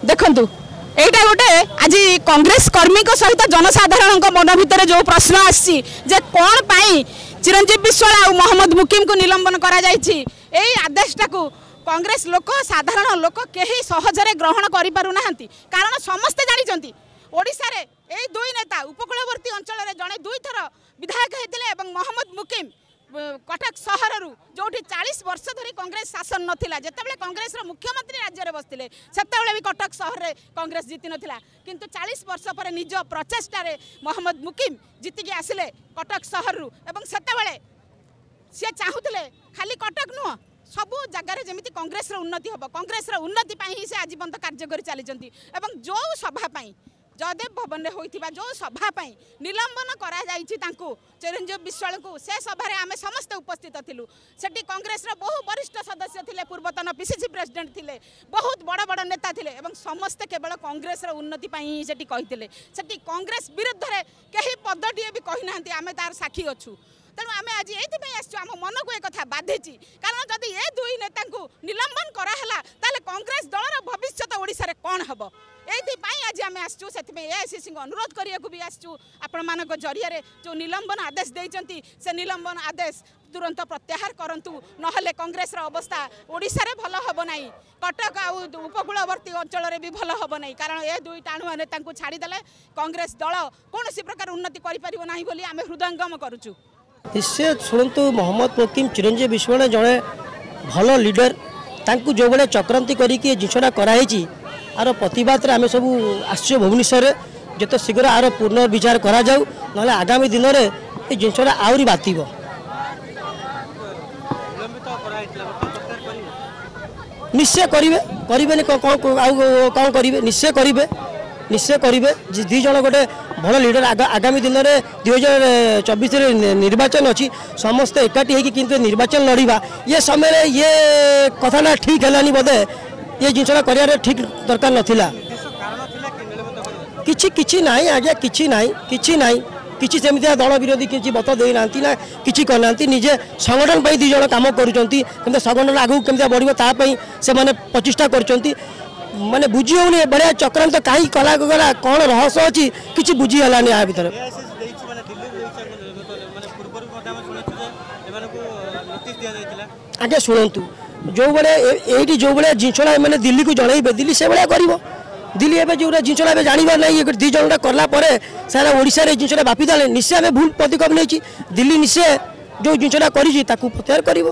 ଦେଖନ୍ତୁ, ଏଇଟା ଗୋଟେ ଆଜି କଂଗ୍ରେସ କର୍ମୀଙ୍କ ସହିତ ଜନସାଧାରଣଙ୍କ ମନ ଭିତରେ ଯେଉଁ ପ୍ରଶ୍ନ ଆସିଛି ଯେ କ'ଣ ପାଇଁ ଚିରଞ୍ଜୀବ ବିଶ୍ୱାଳ ଆଉ ମହମ୍ମଦ ମୁକିମକୁ ନିଲମ୍ବନ କରାଯାଇଛି, ଏଇ ଆଦେଶଟାକୁ କଂଗ୍ରେସ ଲୋକ, ସାଧାରଣ ଲୋକ କେହି ସହଜରେ ଗ୍ରହଣ କରିପାରୁନାହାନ୍ତି। କାରଣ ସମସ୍ତେ ଜାଣିଛନ୍ତି ଓଡ଼ିଶାରେ ଏଇ ଦୁଇ ନେତା ଉପକୂଳବର୍ତ୍ତୀ ଅଞ୍ଚଳରେ ଜଣେ ଦୁଇଥର ବିଧାୟକ ହେଇଥିଲେ ଏବଂ ମହମ୍ମଦ ମୁକିମ କଟକ ସହରରୁ, ଯେଉଁଠି 40 ବର୍ଷ ଧରି କଂଗ୍ରେସ ଶାସନ ନଥିଲା, ଯେତେବେଳେ କଂଗ୍ରେସର ମୁଖ୍ୟମନ୍ତ୍ରୀ ରାଜ୍ୟରେ ବସିଥିଲେ ସେତେବେଳେ ବି କଟକ ସହରରେ କଂଗ୍ରେସ ଜିତି ନଥିଲା, କିନ୍ତୁ 40 ବର୍ଷ ପରେ ନିଜ ପ୍ରଚେଷ୍ଟାରେ ମହମ୍ମଦ ମୁକିମ ଜିତିକି ଆସିଲେ କଟକ ସହରରୁ। ଏବଂ ସେତେବେଳେ ସିଏ ଚାହୁଁଥିଲେ ଖାଲି କଟକ ନୁହଁ, ସବୁ ଜାଗାରେ ଯେମିତି କଂଗ୍ରେସର ଉନ୍ନତି ହେବ। କଂଗ୍ରେସର ଉନ୍ନତି ପାଇଁ ହିଁ ସେ ଆଜି ପର୍ଯ୍ୟନ୍ତ କାର୍ଯ୍ୟ କରି ଚାଲିଛନ୍ତି। ଏବଂ ଯେଉଁ ସଭା ପାଇଁ, ଜୟଦେବ ଭବନରେ ହୋଇଥିବା ଯେଉଁ ସଭା ପାଇଁ ନିଲମ୍ବନ କରାଯାଇଛି ତାଙ୍କୁ, ଚିରଞ୍ଜୀବ ବିଶ୍ୱାଳଙ୍କୁ, ସେ ସଭାରେ ଆମେ ସମସ୍ତେ ଉପସ୍ଥିତ ଥିଲୁ। ସେଠି କଂଗ୍ରେସର ବହୁ ବରିଷ୍ଠ ସଦସ୍ୟ ଥିଲେ, ପୂର୍ବତନ ପିସିସି ପ୍ରେସିଡେଣ୍ଟ ଥିଲେ, ବହୁତ ବଡ଼ ବଡ଼ ନେତା ଥିଲେ ଏବଂ ସମସ୍ତେ କେବଳ କଂଗ୍ରେସର ଉନ୍ନତି ପାଇଁ ହିଁ ସେଠି କହିଥିଲେ। ସେଠି କଂଗ୍ରେସ ବିରୁଦ୍ଧରେ କେହି ପଦଟିଏ ବି କହିନାହାନ୍ତି, ଆମେ ତାର ସାକ୍ଷୀ ଅଛୁ। ତେଣୁ ଆମେ ଆଜି ଏଇଥିପାଇଁ ଆସିଛୁ, ଆମ ମନକୁ ଏ କଥା ବାଧିଛି। କାରଣ ଯଦି ଏ ଦୁଇ ନେତାଙ୍କୁ ନିଲମ୍ବନ କରାହେଲା ତାହେଲେ କଂଗ୍ରେସ ଦଳର ଭବିଷ୍ୟତ ଓଡ଼ିଶାରେ କ'ଣ ହେବ? ଏଇଥିପାଇଁ ଆଜି ଆମେ ଆସିଛୁ। ସେଥିପାଇଁ ଏଆଇସିସିଙ୍କୁ ଅନୁରୋଧ କରିବାକୁ ବି ଆସିଛୁ, ଆପଣମାନଙ୍କ ଜରିଆରେ ଯେଉଁ ନିଲମ୍ବନ ଆଦେଶ ଦେଇଛନ୍ତି ସେ ନିଲମ୍ବନ ଆଦେଶ ତୁରନ୍ତ ପ୍ରତ୍ୟାହାର କରନ୍ତୁ, ନହେଲେ କଂଗ୍ରେସର ଅବସ୍ଥା ଓଡ଼ିଶାରେ ଭଲ ହେବ ନାହିଁ, କଟକ ଆଉ ଉପକୂଳବର୍ତ୍ତୀ ଅଞ୍ଚଳରେ ବି ଭଲ ହେବ ନାହିଁ। କାରଣ ଏ ଦୁଇ ଟାଣୁଆ ନେତାଙ୍କୁ ଛାଡ଼ିଦେଲେ କଂଗ୍ରେସ ଦଳ କୌଣସି ପ୍ରକାର ଉନ୍ନତି କରିପାରିବ ନାହିଁ ବୋଲି ଆମେ ହୃଦୟଙ୍ଗମ କରୁଛୁ। ନିଶ୍ଚୟ ଶୁଣନ୍ତୁ, ମହମ୍ମଦ ମୁକିମ, ଚିରଞ୍ଜୀବ ବିଶ୍ୱାଳ ଜଣେ ଭଲ ଲିଡର। ତାଙ୍କୁ ଯେଉଁଭଳିଆ ଚକ୍ରାନ୍ତି କରିକି ଏ ଜିନିଷଟା କରାହେଇଛି, ଆର ପ୍ରତିବାଦରେ ଆମେ ସବୁ ଆସିଛୁ ଭୁବନେଶ୍ୱରରେ। ଯେତେ ଶୀଘ୍ର ଆର ପୁନର୍ବିଚାର କରାଯାଉ, ନହେଲେ ଆଗାମୀ ଦିନରେ ଏ ଜିନିଷଟା ଆହୁରି ବାତିବ। ନିଶ୍ଚୟ କରିବେ, କରିବେନି କ'ଣ ଆଉ କ'ଣ କରିବେ? ନିଶ୍ଚୟ କରିବେ, ନିଶ୍ଚୟ କରିବେ। ଦୁଇ ଜଣ ଗୋଟେ ଭଲ ଲିଡର। ଆଗାମୀ ଦିନରେ 2024ରେ ନିର୍ବାଚନ ଅଛି, ସମସ୍ତେ ଏକାଠି ହେଇକି କିନ୍ତୁ ନିର୍ବାଚନ ଲଢ଼ିବା। ଇଏ ସମୟରେ ଇଏ କଥାଟା ଠିକ୍ ହେଲାନି ବୋଧେ, ଏ ଜିନିଷଟା କରିବାର ଠିକ୍ ଦରକାର ନଥିଲା। କିଛି କିଛି ନାହିଁ ଆଜ୍ଞା, କିଛି ନାହିଁ, କିଛି ନାହିଁ, କିଛି ସେମିତିଆ ଦଳ ବିରୋଧୀ କିଛି ମତ ଦେଇନାହାନ୍ତି ନା କିଛି କରିନାହାନ୍ତି। ନିଜେ ସଂଗଠନ ପାଇଁ ଦୁଇ ଜଣ କାମ କରୁଛନ୍ତି, କେମିତି ସଂଗଠନ ଆଗକୁ କେମିତି ବଢ଼ିବ ତା ପାଇଁ ସେମାନେ ପ୍ରଚେଷ୍ଟା କରୁଛନ୍ତି। ମାନେ ବୁଝି ହେଉନି ଏଭଳିଆ ଚକ୍ରାନ୍ତ କାହିଁକି କଲା ଗଲା, କ'ଣ ରହସ୍ୟ ଅଛି କିଛି ବୁଝି ହେଲାନି ୟା ଭିତରେ। ଆଜ୍ଞା ଶୁଣନ୍ତୁ, ଯେଉଁଭଳିଆ ଏଇଠି ଯେଉଁଭଳିଆ ଜିନିଷଟା ଏମାନେ ଦିଲ୍ଲୀକୁ ଜଣେଇବେ, ଦିଲ୍ଲୀ ସେଭଳିଆ କରିବ। ଦିଲ୍ଲୀ ଏବେ ଯେଉଁଟା ଜିନିଷଟା ଏବେ ଜାଣିବାର ନାହିଁ, ଦୁଇ ଜଣଟା କଲା ପରେ ସାରା ଓଡ଼ିଶାରେ ଏ ଜିନିଷଟା ବ୍ୟାପିଦେଲେ ନିଶ୍ଚୟ ଆମେ ଭୁଲ ପଦକ୍ଷେପ ନେଇଛି। ଦିଲ୍ଲୀ ନିଶ୍ଚୟ ଯେଉଁ ଜିନିଷଟା କରିଛି ତାକୁ ପ୍ରତ୍ୟାହାର କରିବ।